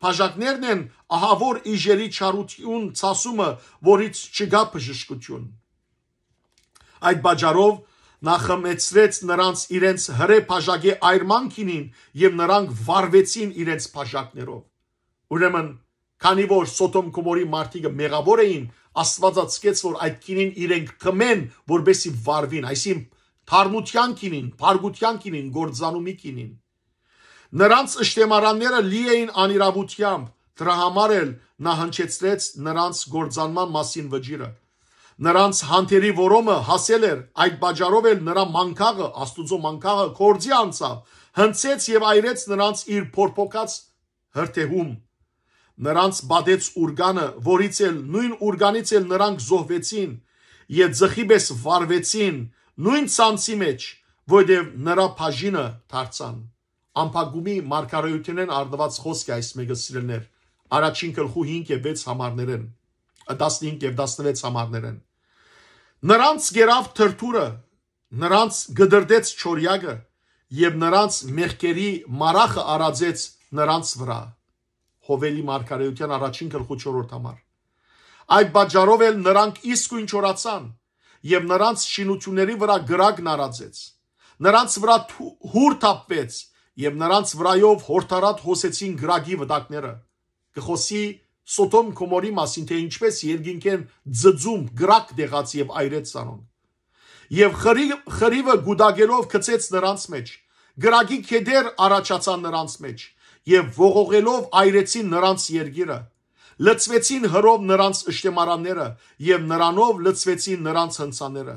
բաժակներն են ահաւոր իժերի չարութիւն ցասումը, որից չկայ բժշկութիւն։ Այդ պատճառով նա խմեցրեց նրանց իրենց հրէ բաժակի այրման գինին, եւ նրանք վառվեցին իրենց բաժակներով։ Ուրեմն քանի որ Սոդոմ Գոմորի մարդիկը մեղաւոր էին, Աստուածը ցկեց որ այդ գինին իրենք խմեն, որպեսզի վարուին, այսինքն թարմութեան գինին, փառքութեան գինին, կործանումի գինին։ Նրանց շտեմարանները լի էին անիրաւութեամբ, դրա համար էլ նա հնչեցրեց նրանց կործանման մասին վճիռը։ Նրանց հանթերի որոմը հասել էր, այդ պատճառով էլ նրա մանկաղը, Աստուծոյ մանկաղը, կործի անցաւ, հնձեց եւ այրեց նրանց իր փորփոքած հրդեհում։ Նրանց պատեց ուրկանը, որից էլ, նոյն ուրկանից էլ նրանք զոհուեցին եւ ձխի պէս վարուեցին նոյն ցանցի մէջ, որտեւ նրա բաժինը դարձան։ Ամփակումի մարգարէութենէն առնուած խօսք է այս մէկը, սիրելիներ, առաջին գլխու հինգ եւ վեց համարներէն, տասնհինգ եւ տասնվեց համարներէն։ Նրանց գերաւ թրթուրը, նրանց կտրտեց չորեակը եւ նրանց մեղքերի մառախը արածեց նրանց վրայ։ Յովելի մարգարէութեան առաջին գլխու չորրորդ համար։ Այդ պատճառով էլ նրանք իսկոյն չորացան եւ նրանց շինությունների վրայ կրակն արածեց։ Նրանց վրայ թու-, հուր թափուեց եւ նրանց վրայով հորդառատ հոսեցին կրակի վտակները։ Կը խօսի Սոդոմ Գոմորի մասին, թէ ինչպէս երկինքէն ձձում կրակ դեղաց եւ այրեց զանոնք։ Եւ խրի-, խրիվը կուտակելով գցեց նրանց մէջ, կրակի կետեր առաջացան նրանց մէջ եւ ողողելով այրեցին նրանց երկիրը։ Լցուեցին հրով նրանց շտեմարանները եւ նրանով լցուեցին նրանց հնձանները։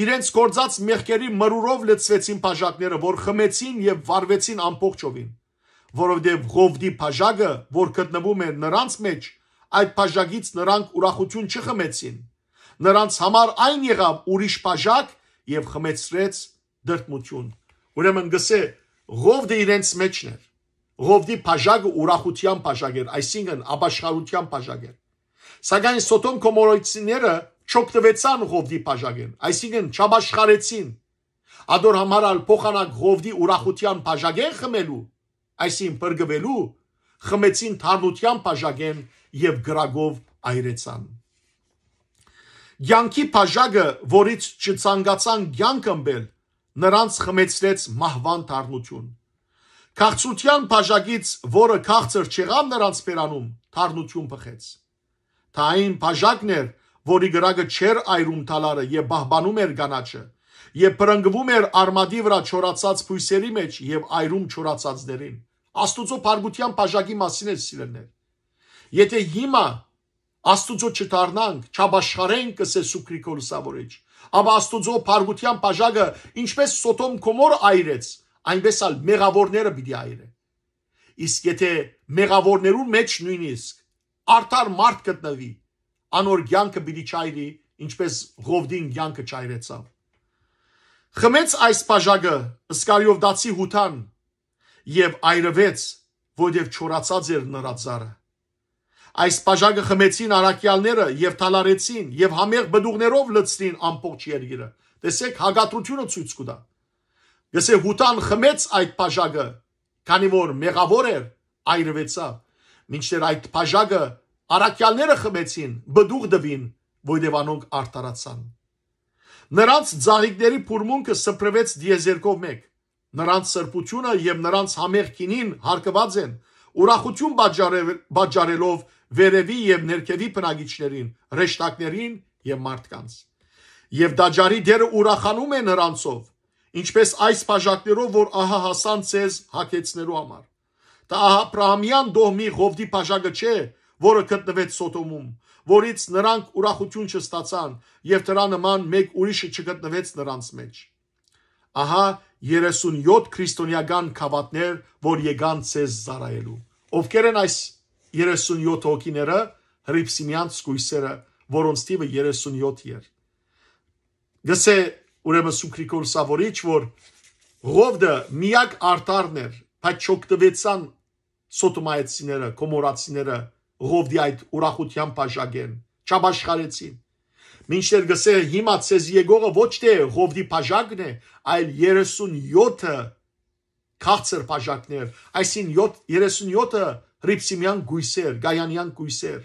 Իրենց գործած մեղքերի մրուրով լցուեցին բաժակները, որ խմեցին եւ վառուեցին ամբողջովին, որովհետեւ Ղովտի բաժակը, որ գտնվում էր նրանց մէջ, այդ բաժակից նրանք ուրախութիւն չխմեցին։ Նրանց համար այն եղաւ ուրիշ բաժակ եւ խմեցրեց դրդմութիւն։ Ուրեմն գսէ, Ղովտը իրենց մէջն էր։ Ղովտի բաժակը ուրախութեան բաժակ էր, այսինքն՝ ապաշխարութեան բաժակ էր։ Սակայն Սոդոմ Գոմորոյցիները չօգտուեցան Ղովտի բաժակէն, այսինքն՝ չապաշխարեցին։ Ադոր համար ալ փոխանակ Ղովտի ուրախութեան բաժակէն խմելու, այսինքն՝ փրկուելու, խմեցին թարմութեան բաժակէն եւ կրակով այրեցան։ Կեանքի բաժակը, որից չցանկացան կեանք ըմպել, նրանց խմեցրեց մահուան թարմութիւն։ Քաղցրութեան բաժակից, որը քաղցր չեղաւ նրանց բերանում, թարմութիւն բխեց։ Դա այն բաժակն էր, որի կրակը չէր այրում թալարը եւ պահպանում էր կանաչը, եւ բռնկվում էր արմատի վրայ չորացած բոյսերի մէջ եւ այրում չորացածներին։ Աստուծոյ փառքութեան բաժակի մասին էր, սիրելիներ։ Եթէ հիմա Աստուծոյ չդառնանք, չապաշխարենք, կ'ըսէ Սուգ Գրիգոր Լուսաւորիչ, ապա Աստուծոյ փառքութեան բաժակը, ինչպէս Սոդոմ Գոմոր այրեց, այնպէս ալ մեղաւորները պիտի այրէ։ Իսկ եթէ մեղաւորներուն մէջ նոյնիսկ արդար մարդ գտնուի, անոր կեանքը պիտի չայրի, ինչպէս Ղովտին կեանքը չայրեցաւ։ Խմեց այս բաժակը Իսկարիովտացի Յուդան եւ այրուեց, որտեւ չորացած էր նրա ծառը։ Այս բաժակը խմեցին առաքեալները եւ թալարեցին եւ համեղ պտուղներով լցրին ամբողջ երկիրը։ Տեսեք, հակադրութիւնը ցոյց կու տայ։ Գսէ, Յուդան խմեց այդ բաժակը, քանի որ մեղաւոր էր, այրուեցաւ, մինչդեռ այդ բաժակը առաքեալները խմեցին, պտուղ տուին, որտեւ անոնք արդարացան։ Նրանց ծաղիկների փուրմունքը սփռուեց տիեզերքով մէկ։ Նրանց սրբութիւնը եւ նրանց համեղ գինին հարկուած են, ուրախութիւն պատճառ-, պատճառելով վերեւի եւ ներքեւի բնակիչներին, հրեշտակներին եւ մարդկանց։ Եւ տաճարի դերը ուրախանում է նրանցով, ինչպես այս բաժակներով, որ ահա հասան ձեզ հագեցնելու համար։ Դա ահա Աբրահամեան տոհմի Ղովտի բաժակը չէ, որը գտնվեց Սոդոմում, որից նրանք ուրախութիւն չստացան, եւ դրա նման մէկ ուրիշը չգտնվեց նրանց մէջ։ Ահա երեսունյոթ քրիստոնեական գաւաթներ, որ եկան ձեզ ծառայելու։ Ովքեր են այս երեսունյոթ հոգիները, հռիփսիմեանց կոյսերը, որոնց թիվը երեսունյոթ էր։ Գսէ, ուրեմն, Սուգ Գրիգոր Լուսաւորիչ, որ Ղովտը միակ արդարն էր, բայց չօգտուեցան Սոդոմայեցիները, Գոմորացիները Ղովտի այդ ուրախութեան բաժակէն, չապաշխարեցին։ Մինչդեռ գսէ, հիմա ձեզ եկողը ոչ թէ Ղովտի բաժակն է, այլ երեսունյոթը քաղցր բաժակներ, այսինքն՝ յոթ, երեսունյոթը հռիփսիմեան կոյսեր, կայանեան կոյսեր։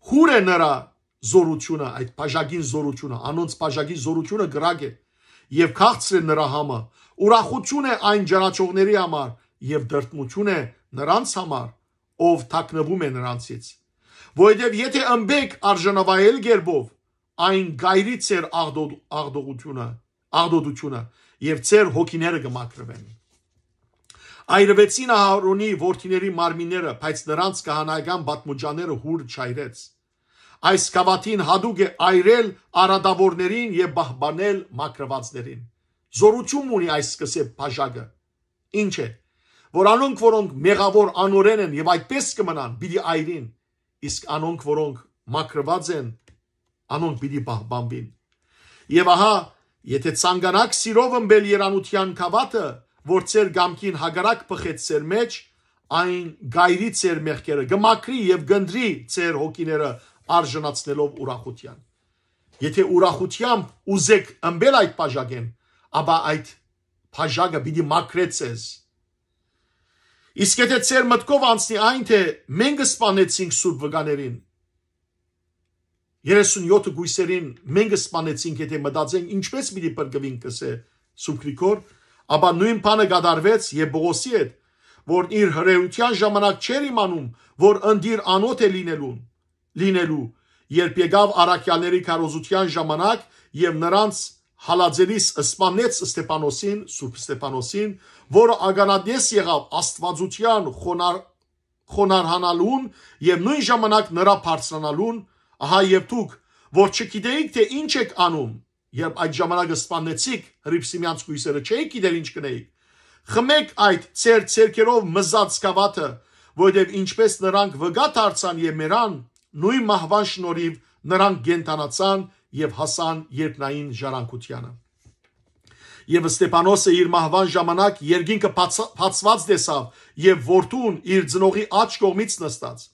Հուր է նրա զօրութիւնը, այդ բաժակին զօրութիւնը, անոնց բաժակի զօրութիւնը կրակ է, եւ քաղցր է նրա համը, ուրախութիւն է այն ճանաչողների համար, եւ դրդմութիւն է նրանց համար, ով թաքնուում է նրանցից։ Որովհետեւ եթէ ըմպէք արժանավայել կերպով, այն կ'այրի ձեր աղտո-, աղտողությունը, աղտոտությունը եւ ձեր հոգիները կը մաքրուեն։ Այրուեցին Ահարոնի որդիների մարմինները, բայց նրանց քահանայական պատմուճաները յուրը չայրեց։ Այս գաւաթին յատուկ է այրել արատաւորներին եւ պահպանել մաքրուածներին։ Զորութիւն ունի այս սկսե բաժակը։ Ինչ է, որ անոնք, որոնք մեղաւոր անօրէն են եւ այդպես կը մնան, պիտի այրին, իսկ անոնք, որոնք մաքրուած են, անոնք պիտի պահպանուին։ Եւ ահա, եթէ ցանկանաք սիրով ըմպել երանութեան գաւաթը, որ ձեր կամքին հակառակ բխեց ձեր մէջ, այն կ'այրի ձեր մեղքերը, կը մաքրի եւ կ'ընտրի ձեր հոգիները արժանացնելով ուրախութեան։ Եթէ ուրախութեամբ ուզեք ըմպել այդ բաժակէն, ապա այդ բաժակը պիտի մաքրէ ձեզ։ Իսկ եթէ ձեր մտքով անցնի այն, թէ մենք սպանեցինք սուրբ վկաներին, երեսունյոթը կոյսերին մենք սպանեցինք, եթէ մտածենք, ինչպէս պիտի փրկուինք, կ'ըսէ Սուրբ Գրիգոր, ապա նոյն բանը կատարուեց եւ Պողոսի հետ, որ իր հրեութեան ժամանակ չէր իմանում, որ ընտիր անոթ է լինելուն, լինելու, երբ եկաւ առաքյալների քարոզութեան ժամանակ եւ նրանց հալածելիս սպանեց Ստեփանոսին, Սուրբ Ստեփանոսին, որը ականատես եղաւ Աստուածութեան խոնար-, խոնարհանալուն եւ նոյն ժամանակ նրա բարձրանալուն, ահա եւ դուք, որ չգիտեիք, թէ ինչ էք անում, երբ այդ ժամանակ սպաննեցիք հրիփսիմեանց կոյսերը, չէիք գիտեր ինչ կ'ընէիք։ Խմէք այդ ձեր ձեռքերով մզած գաւաթը, որովհետեւ ինչպէս նրանք վկայ դարձան եւ մեռան, նոյն մահուան շնորհիւ նրանք կենդանացան եւ հասան երկնային ժառանգութեանը։ Եւ Ստեփանոսը իր մահուան ժամանակ երկինքը բաց-, բացուած տեսաւ եւ որդուն իր ծնողի աջ կողմից նստած։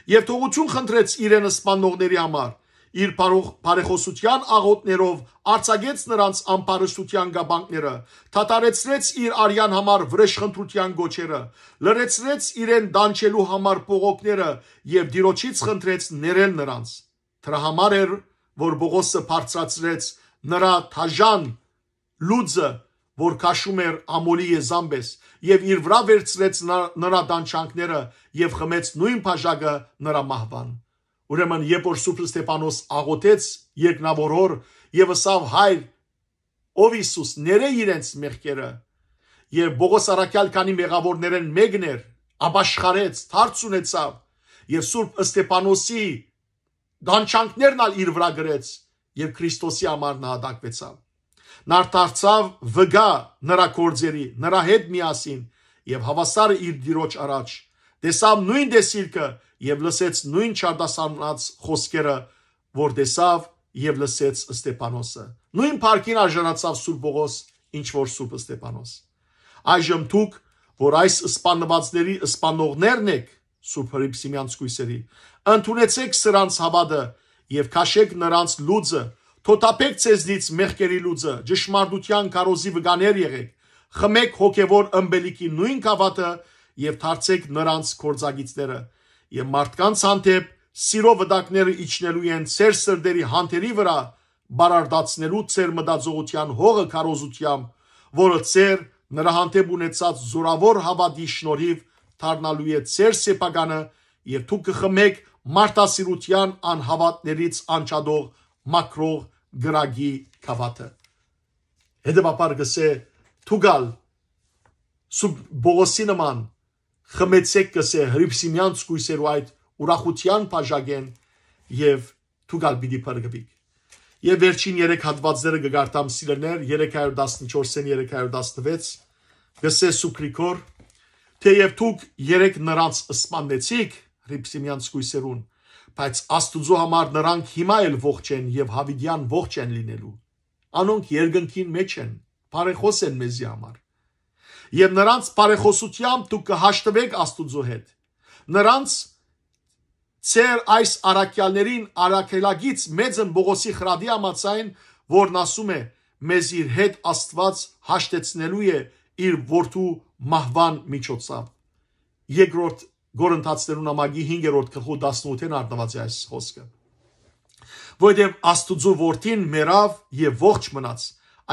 Եւ թողություն խնդրեց իրեն սպաննողների համար, իր բարոխ-, բարեխօսութեան աղօթներով արձակեց նրանց ամբարշտութեան կապանքները, դադարեցրեց իր արեան համար վրեժխնդրութեան գոչերը, լրացրեց իրեն դանչելու համար բողոքները եւ Տիրոջից խնդրեց ներել նրանց։ Դրա համար էր, որ Պողոսը բարձրացրեց նրա դաժան լուծը, որ քաշում էր ամոլի եզան պէս, եւ իր վրայ վերցրեց նրա, նրա դանչանքները եւ խմեց նոյն բաժակը նրա մահուան։ Ուրեմն, երբ որ Սուրբ Ստեփանոս աղօթեց երկնաւոր հօր եւ ըսաւ. «Հայր, ով Յիսուս, ներէ իրենց մեղքերը», եւ Պողոս առաքյալ քանի մեղաւորներէն մեկն էր, ապաշխարեց, դարձ ունեցավ եւ Սուրբ Ստեփանոսի դանչանքներն ալ իր վրայ գրեց եւ Քրիստոսի համար նահատակվեցաւ։ Նար դարձաւ վկայ նրա գործերի, նրա հետ միասին, եւ հաւասարը իր Տիրոջ առաջ տեսաւ նոյն տեսիլքը եւ լսեց նոյն չարտասանած խօսքերը, որ տեսաւ եւ լսեց Ստեփանոսը։ Նոյն փառքին արժանացաւ Սուրբ Պողոս, ինչ որ Սուրբ Ստեփանոս։ Այժմ դուք, որ այս սպաննուածների սպանողներն եք, Սուրբ Հռիփսիմեանց կոյսերի, ընդունեցեք սրանց հաւատը եւ քաշեք նրանց լուծը, թոթափեք ձեզնից մեղքերի լուծը, ճշմարտութեան քարոզի վկաներ եղեք, խմեք հոգեվոր ըմպելիքի նոյն գաւաթը եւ դարձեք նրանց գործակիցները։ Եւ մարդկանց հանդէպ սիրո վտակները իջնելու են ձեր սրտերի հանթերի վրայ, բարարդացնելու ձեր մտածողութեան հողը քարոզութեամբ, որը ձեր նրա հանդէպ ունեցած զորաւոր հաւատի շնորհիվ դառնալու է ձեր սեփականը, եւ դուք կը խմեք մարդասիրութեան անհաւատներից անջատող մաքրող կրակի գաւաթը։ Հետեւաբար կ'ըսէ. «Դուք ալ Սուրբ Պողոսի նման խմեցեք», կ'ըսէ, «Հռիփսիմեանց կոյսերու այդ ուրախութեան բաժակէն եւ դուք ալ պիտի փրկուիք»։ Եւ վերջին երեք հատուածները կը կարդամ, սիրելիներ, երեք հարյուր տասնչորսէն երեք հարյուր տասնվեց, կ'ըսէ Սուրբ Գրիգոր. «Թէեւ դուք երեկ նրանց սպաննեցիք, Հռիփսիմեանց կոյսերուն, բայց Աստուծոյ համար նրանք հիմա էլ ողջ են եւ յաւիտեան ողջ են լինելու։ Անոնք երկնքին մէջ են, բարեխօս են մեզի համար։ Եւ նրանց բարեխօսութեամբ դուք կը հաշտուեք Աստուծոյ հետ։ Նրանց, ձեր այս առաքեալներին առաքելագից մեծն Պողոսի խրատի համաձայն, որն ասում է. "Մեզ իր հետ Աստուած հաշտեցնելու է իր որդու մահուան միջոցով"»։ Երկրորդ Կորինթացիներուն ամագի հինգերորդ գլխու տասնութ են արտնուած է այս խոսքը։ Որովհետև Աստուծոյ որդին մեռաւ եւ ողջ մնաց,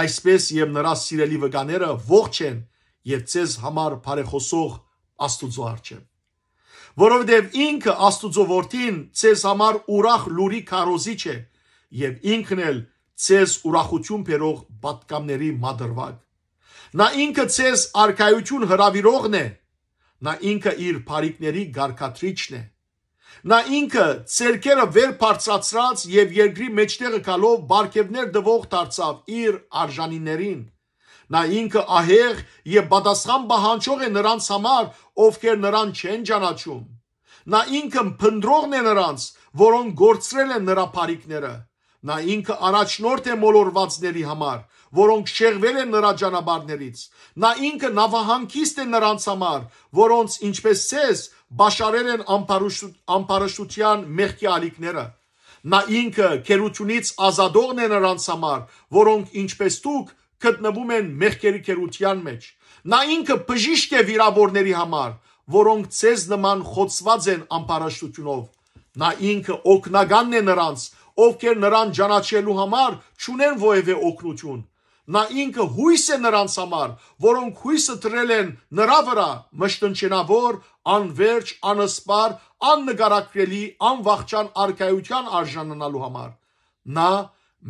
այսպես եւ նրա սիրելի վկաները ողջ են եւ ձեզ համար բարեխօսող Աստուծոյ առջեւ։ որովհետեւ ինքը, Աստուծոյ Որդին, ձեզ համար ուրախ լուրի քարոզիչ է, եւ ինքն էլ ձեզ ուրախութիւն բերող պատգամների մատրուակ։ Նա ինքը ձեզ արքայութիւն հրաւիրողն է, նա ինքը իր բարիքների կարգադրիչն է։ Նա ինքը ձեռքերը վեր բարձրացրած եւ երկրի մէջտեղը գալով պարգեւներ տուող դարձաւ իր արժանիներին։ Նա ինքը ահեղ եւ պատասխան պահանջող է նրանց համար, ովքեր նրան չեն ճանաչում։ Նա ինքը փնտռողն է նրանց, որոնք կորցրել են նրա բարիքները։ Նա ինքը առաջնորդ է մոլորուածների համար, որոնք շեղվել են նրա ճանապարհներից։ Նա ինքը նաւահանգիստ է նրանց համար, որոնց, ինչպես ձեզ, պաշարել են ամբարշ-, ամբարշտության մեղքի ալիքները։ Նա ինքը գերությունից ազատողն է նրանց համար, որոնք, ինչպես դուք, գտնվում են մեղքերի գերության մեջ։ Նա ինքը բժիշկ է վիրավորների համար, որոնք ձեզ նման խոցուած են ամբարշտությունով։ Նա ինքը օգնականն է նրանց, ովքեր նրան ճանաչելու համար չունեն որևէ օգնություն։ Նա ինքը յոյս է նրանց համար, որոնք յոյսը դրել են նրա վրա, մշտնջենաւոր, անվերջ, անսպառ, աննկարագրելի, անվախճան արքայութեան արժանանալու համար։ Նա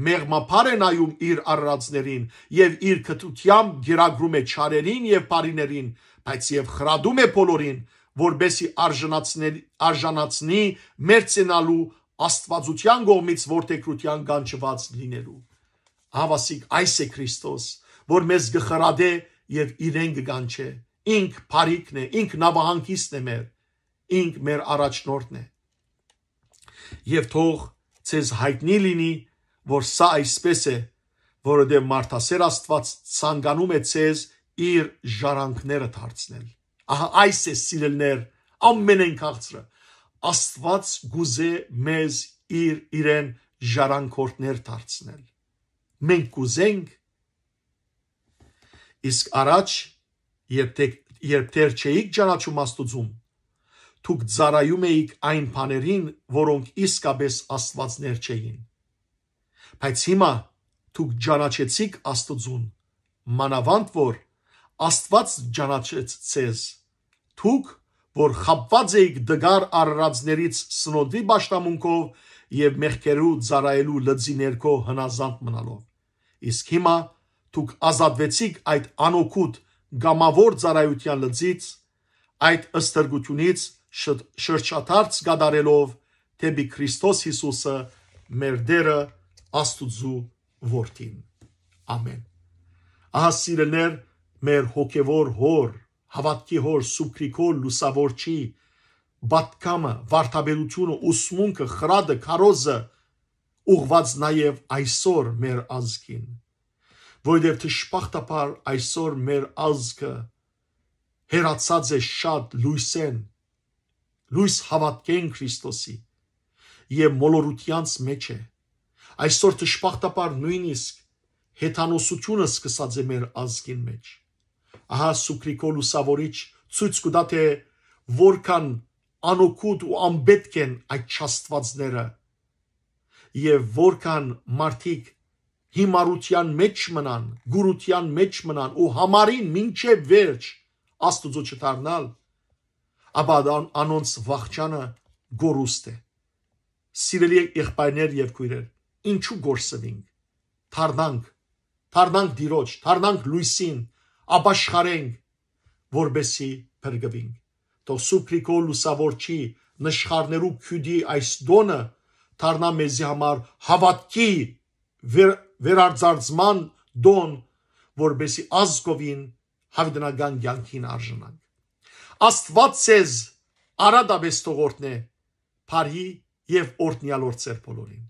մեղմաբար է նայում իր արարածներին եւ իր քթութեամբ կերակրում է չարերին եւ բարիներին, բայց եւ խրատում է բոլորին, որպեսզի արժանացնել-, արժանացնի մերձենալու Աստուածութեան կողմից որդեգրութեան կանչուած լինելու։ Ահա ասիկ այս է Քրիստոս, որ մեզ կը խրատէ եւ իրեն կը կանչէ։ Ինք բարիքն է, ինք նաւահանգիստն է մեր, ինք մեր առաջնորդն է։ Եւ թող ձեզ յայտնի լինի, որ սա այսպես է, որովհետեւ մարդասէր Աստուած ցանկանում է ձեզ իր ժառանգները դարձնել։ Ահա այս է, սիրելիներ, ամենէն քաղցրը։ Աստուած կուզէ մեզ իր, իրեն ժառանգորդներ դարձնել։ Մենք կուզենք, իսկ առաջ, երբ դե-, երբ դեռ չէիք ճանաչում Աստուծուն, դուք ծառայում էիք այն բաներին, որոնք իսկապես Աստուածներ չէին։ Բայց հիմա դուք ճանաչեցիք Աստուծուն, մանաւանդ որ Աստուած ճանաչեց ձեզ։ Դուք, որ խաբուած էիք տկար արարածներից սնոնդի պաշտամունքով եւ մեղքերու ծառայելու լծի ներքո հնազանդ մնալով։ Իսկ հիմա դուք ազատուեցիք այդ անօգուտ կամաւոր ծառայութեան լծից, այդ ստրկութիւնից շ-, շրջադարձ կատարելով դէպի Քրիստոս Յիսուսը, մեր Տէրը, Աստուծոյ Որդին։ Ամէն։ Ահա, սիրելիներ, մեր հոգեւոր Հօր, հաւատքի Հօր, Սուրբ Գրիգոր Լուսաւորչի պատգամը, վարդապետությունը, ուսմունքը, խրատը, քարոզը ուղղուած նաեւ այսօր մեր ազգին, որովհետեւ դժբախտաբար այսօր մեր ազգը հեռացած է շատ լոյսէն, լոյս հաւատքէն Քրիստոսի, եւ մոլորութեանց մէջ է։ Այսօր դժբախտաբար նոյնիսկ հեթանոսությունը սկսած է մեր ազգին մէջ։ Ահա Սուրբ Գրիգոր Լուսաւորիչ ցոյց կու տայ, թէ որքան անօգուտ ու անպետք են այդ չաստուածները, եւ որքան մարդիկ հիմարութեան մէջ մնան, կուրութեան մէջ մնան ու յամառին մինչեւ վերջ Աստուծոյ չդառնալ, ապա ան-, անոնց վախճանը կորուստ է։ Սիրելի եղբայրներ եւ քոյրեր, ինչու կորսուինք։ Դառնանք, դառնանք Տիրոջ, դառնանք լոյսին, ապաշխարենք, որպեսզի փրկուինք։ Թող Սուրբ Գրիգոր Լուսաւորչի նշխարներու քիւտի այս տօնը դառնայ մեզի համար հաւատքի վեր-, վերարձարծման տօն, որպեսզի ազգովին յաւիտենական կեանքին արժանանք։ Աստուած ձեզ արատապէս թող օրհնէ, բարի եւ օրհնեալ օր ձեր բոլորին։